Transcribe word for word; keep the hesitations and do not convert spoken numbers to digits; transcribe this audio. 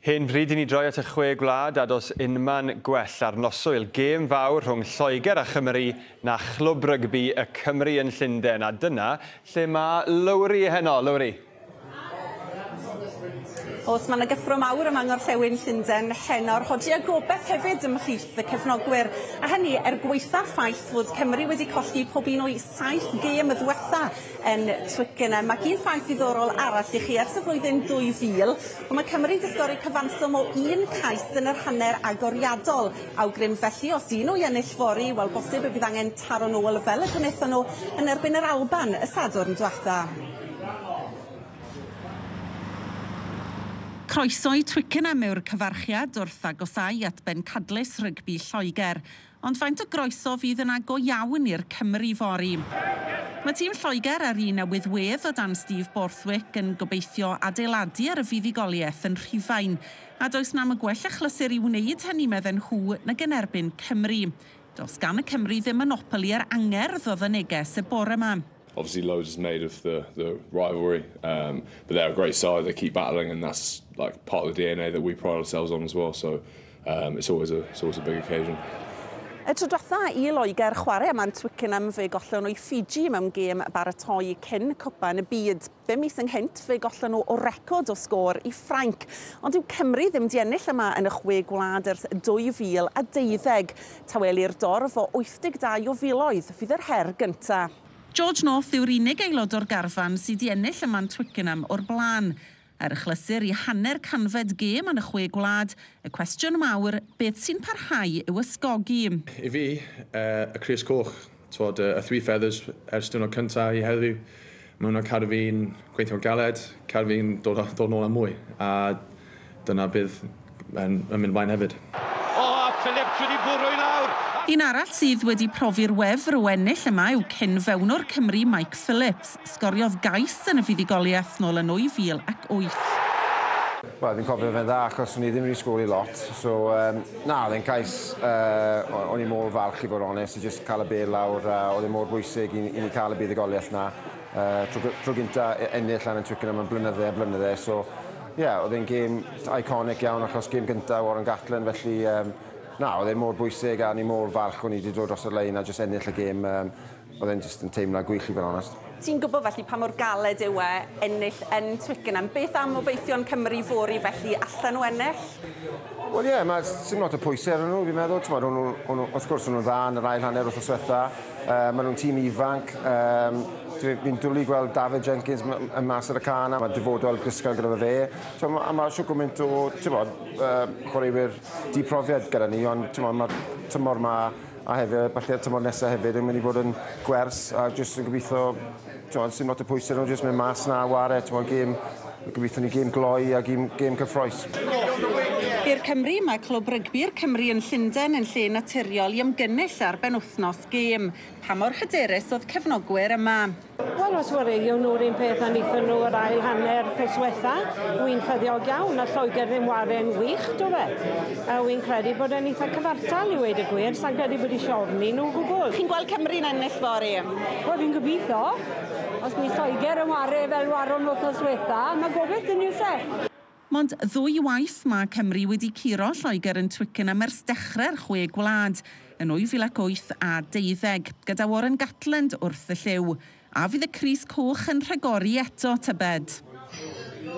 Hen bryd i ni droi at y chwe gwlad a dos unman gwell ar noswyl gêm fawr rhwng Lloegr a Chymru na chlwb rygbi y Cymru yn Llundain. A dyna lle mae Lowri heno. Lowri. Oes, mae yna gyffro mawr yma yng Ngorllewin Llundain heno'r hodi a gobeith hefyd ymhlith y cefnogwyr. A hynny er gwaetha'r ffaith fod Cymru wedi colli pob un o'i saith gêm y ddiwetha yn Twickenham. Ac un ffaith ddiddorol arall i chi, ers y flwyddyn dwy fil, mae Cymru wedi sgori cyfanswm o un cais yn yr hanner agoriadol. Awgrym felly, os un nhw i ennill fory, wel bosib y bydd angen taro nôl fel y gwnaethon nhw yn erbyn yr Alban y Sadwrn diwetha. Croeso i Twickenham yw'r cyfarchiad wrth agosau at bencadlys rygbi Lloegr, ond faint o groeso fydd yna go iawn i'r Cymru fory. Mae tîm Lloegr ar un newydd wedd o dan Steve Borthwick yn gobeithio adeiladu ar y fuddugoliaeth yn Rhufain, a does na'm y gwell achlysur i wneud hynny medden nhw nag yn erbyn Cymru. Does gan y Cymru ddim monopoli ar angerdd oedd y neges y bore yma. Obviously loads is made of the, the rivalry, um, but they're a great side, they keep battling, and that's like part of the D N A that we pride ourselves on as well, so um, it's, always a, it's always a big occasion. Y tro diwetha i Loegr chwarae yma'n Twickenham fe gollon nhw i Fiji mewn gêm baratoi cyn Cwpan y Byd. Bum mis ynghynt fe gollon nhw o record o sgôr i Ffrainc. Ond yw Cymru ddim di ennill yma yn y chwe gwlad ers dwy fil a deuddeg. Tawelu'r dorf o wyth deg dau o filoedd fydd yr her gyntaf. George North yw'r unig aelod o'r garfan sydd wedi ennill yma'n Twickenham o'r blaen. Er achlysur i hanner canfed gêm yn y chwe gwlad, y cwestiwn mawr, beth sy'n parhau yw ysgogi? I fi, uh, y crys coch, twod, y three feathers ers diwrnod cyntaf i heddiw, mae hwnna'n cadw fi'n gweithio'n galed, cadw fi'n dod, dod nôl am mwy, a dyna bydd yn, yn mynd mlaen hefyd. O, a Phillips wedi bwrw i lawr! Un arall sydd wedi profi'r wefr o ennill yma yw cyn-fewnwr Cymru Mike Phillips. Sgoriodd gais yn y fuddugoliaeth nôl yn dwy fil ac wyth. Wel, fi'n cofio fe'n dda achos o'n i ddim wedi sgori lot. So, um, na, oedd e'n cais, uh, o'n i mor falch i fod onest, i just cael y bêl lawr, uh, oedd e mor bwysig i, i ni cael y buddugoliaeth na. Uh, tro, tro gynta ennill lan yn Twickenham yn blynydde a blynydde, so, ie, yeah, oedd e'n gêm iconic iawn achos gêm gynta Warren Gatland, felly, um, na, oedd e'n mor bwysig a ni mor falch o'n i wedi dod dros y lein a jyst ennill y gêm. Um, oedd e'n jyst yn teimlad gwych i fod yn onest. Ti'n gwybod felly pa mor galed yw e ennill yn Twickenham. Beth am obeithion Cymru fory felly allan nhw ennill? Wel ie, yeah, mae sim lot o pwysau arnyn nhw, fi'n meddwl. T'mod, o'n nhw, wrth gwrs, o'n nhw'n dda yn yr ail hanner wythnos diwetha. Uh, maen nhw'n tîm ifanc. Um, Fi'n dwlu gweld David Jenkins yn mas ar y can, a mae dyfodol gysgal gyda fe. So, a mae siw gymaint o, ti'n bod, uh, chwaraewyr diprofiad gyda ni, ond ti'n bod, mae'r tymor ma a hefyd, falle'r tymor nesaf hefyd yn mynd i fod yn gwers, a jyst yn gobeithio, ti'n bod, sim lot o pwysau nhw, jyst mynd mas na a ware, ti'n bod, gêm, gobeithio ni gêm gloi a gêm, gêm cyffrous. I'r Cymru, mae clwb rygbi'r Cymru yn Llundain yn lle naturiol i ymgynnull ar benwythnos gêm. Pa mor hyderus oedd cefnogwyr yma? Wel, os wareion nhw'r un peth a wnaethon nhw yr ail hanner wythnos diwetha, wy'n ffyddiog iawn, a Lloegr ddim ware'n wych, do fe? A wy'n credu bod e'n eitha cyfartal i weud y gwir, sa'n credu bod eisiau ofni nhw gwbl. Chi'n gweld Cymru'n ennill fory? Wel, fi'n gobeithio. Os mi Lloegr yn ware fel waron wythnos diwetha, mae gobeith dyn nhw se. Mond ddwy waith mae Cymru wedi curo Lloegr yn Twickenham ers dechrau'r chwe gwlad yn dwy fil ac wyth a deuddeg, gyda Warren Gatland wrth y llyw. A fydd y crys coch yn rhagori eto, tybed?